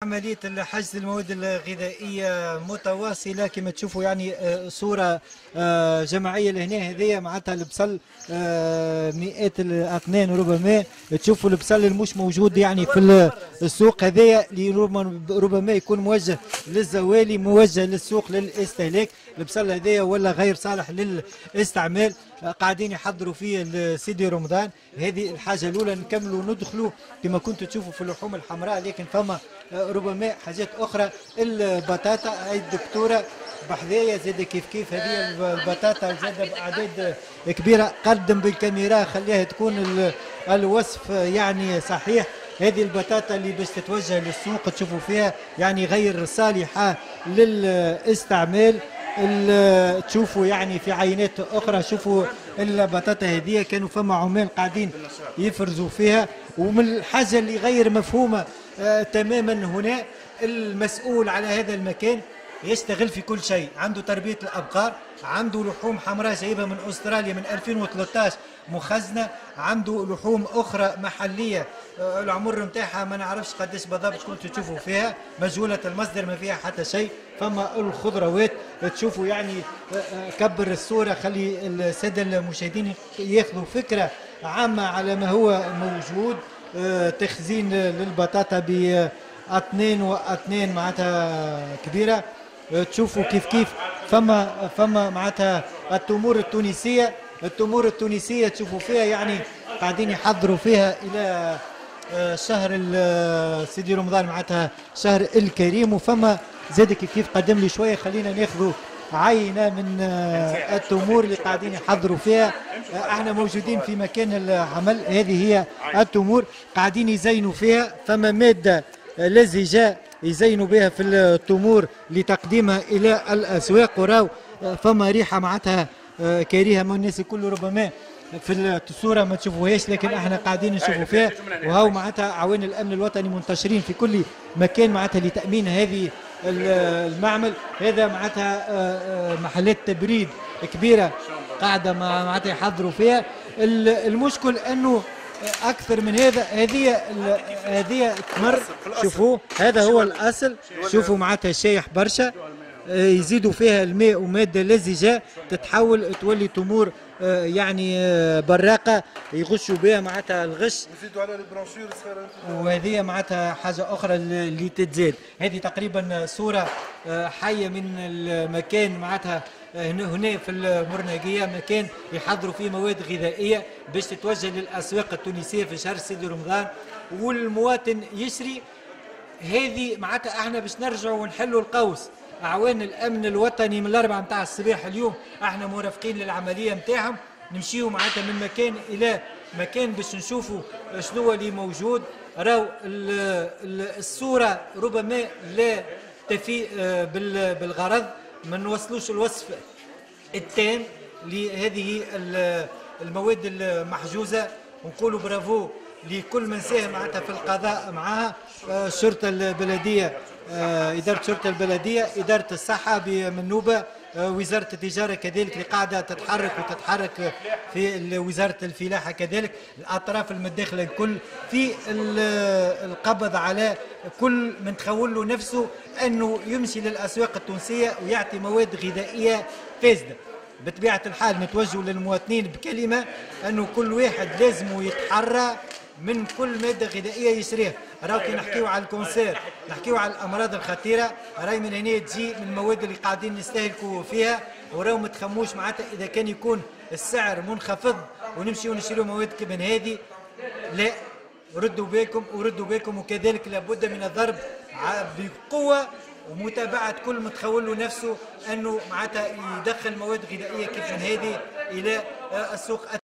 عملية حجز المواد الغذائية متواصلة كما تشوفوا، يعني صورة جماعية لهنا. هذه معناتها البصل مئات الأطنان ربما. تشوفوا البصل المش موجود يعني في السوق، هذايا اللي ربما يكون موجه للزوالي، موجه للسوق للاستهلاك. البصل هذايا ولا غير صالح للاستعمال، قاعدين يحضروا فيه سيدي رمضان. هذه الحاجة الأولى. نكملوا ندخلوا كما كنتوا تشوفوا في اللحوم الحمراء، لكن فما ربما حاجات أخرى. البطاطا، هاي الدكتورة بحذايا زاد كيف كيف، هذه البطاطا زاد بأعداد كبيرة. قدم بالكاميرا خليها تكون الوصف يعني صحيح. هذه البطاطا اللي باش تتوجه للسوق تشوفوا فيها يعني غير صالحة للاستعمال. تشوفوا يعني في عينات اخرى، شوفوا البطاطا هذه كانوا فما عمال قاعدين يفرزوا فيها. ومن الحاجة اللي غير مفهومه تماما هنا، المسؤول على هذا المكان يشتغل في كل شيء، عنده تربيه الابقار، عنده لحوم حمراء جايبها من استراليا من 2013 مخزنة، عنده لحوم اخرى محليه العمر نتاعها ما نعرفش قداش بالضبط، كنتوا تشوفوا فيها مجهولة المصدر ما فيها حتى شيء. فما الخضروات تشوفوا يعني كبر الصورة خلي السادة المشاهدين ياخذوا فكرة عامة على ما هو موجود. تخزين للبطاطا باثنين واثنين معناتها كبيرة. تشوفوا كيف كيف فما معناتها التمور التونسية، التمور التونسية تشوفوا فيها يعني قاعدين يحضروا فيها الى شهر سيدي رمضان معناتها شهر الكريم. وفما زاد كيف كيف قدم لي شوية، خلينا ناخذوا عينه من التمور اللي قاعدين يحضروا فيها. احنا موجودين في مكان العمل، هذه هي التمور قاعدين يزينوا فيها. فما مادة لزجه يزينوا بها في التمور لتقديمها الى الاسواق. وراو فما ريحه معناتها كريهة من الناس الكل، ربما في الصورة ما تشوفوهاش لكن احنا قاعدين نشوفوا فيها. وهو معناتها اعوان الامن الوطني منتشرين في كل مكان معناتها لتامين هذه المعمل. هذا معناتها محلات تبريد كبيرة قاعدة معناتها يحضروا فيها. المشكل انه اكثر من هذا، هذه تمر، شوفوا هذا هو الاصل، شوفوا معناتها شايح برشا، يزيدوا فيها الماء ومادة لزجه تتحول تولي تمور يعني براقه يغشوا بها معناتها الغش، يزيدوا على البرونشور. وهذه معناتها حاجة اخرى اللي تتزاد. هذه تقريبا صوره حيه من المكان معناتها هنا في المرناقيه، مكان يحضروا فيه مواد غذائية باش تتوجه للاسواق التونسية في شهر سيدي رمضان والمواطن يشري. هذه معناتها احنا باش نرجعوا ونحلوا القوس. اعوان الامن الوطني من 4 متاع الصباح اليوم احنا مرافقين للعملية نتاعهم، نمشيو معناتها من مكان الى مكان باش نشوفوا شنو اللي موجود. راو الصورة ربما لا تفي بالغرض، ما نوصلوش الوصف التام لهذه المواد المحجوزه. ونقولوا برافو لكل من ساهم معناتها في القضاء معها، الشرطة البلدية، ادارة الشرطة البلدية، ادارة الصحة بمنوبه، وزارة التجارة كذلك اللي قاعدة تتحرك وتتحرك في وزارة الفلاحة كذلك، الاطراف المتداخله الكل في القبض على كل من تخول له نفسه انه يمشي للاسواق التونسية ويعطي مواد غذائية فاسدة. بطبيعة الحال نتوجه للمواطنين بكلمه انه كل واحد لازم يتحرى من كل مادة غذائية يشريها. راهو كي نحكيو على ال cancer، نحكيو على الامراض الخطيرة، راهي من هنا تجي من المواد اللي قاعدين نستهلكوا فيها. وراهو ما تخموش معناتها اذا كان يكون السعر منخفض ونمشيو نشريو مواد من هذه، لا، ردوا بالكم وردوا بالكم. وكذلك لابد من الضرب بقوة ومتابعة كل متخول له نفسه انه معناتها يدخل مواد غذائية كيف من هذه الى السوق.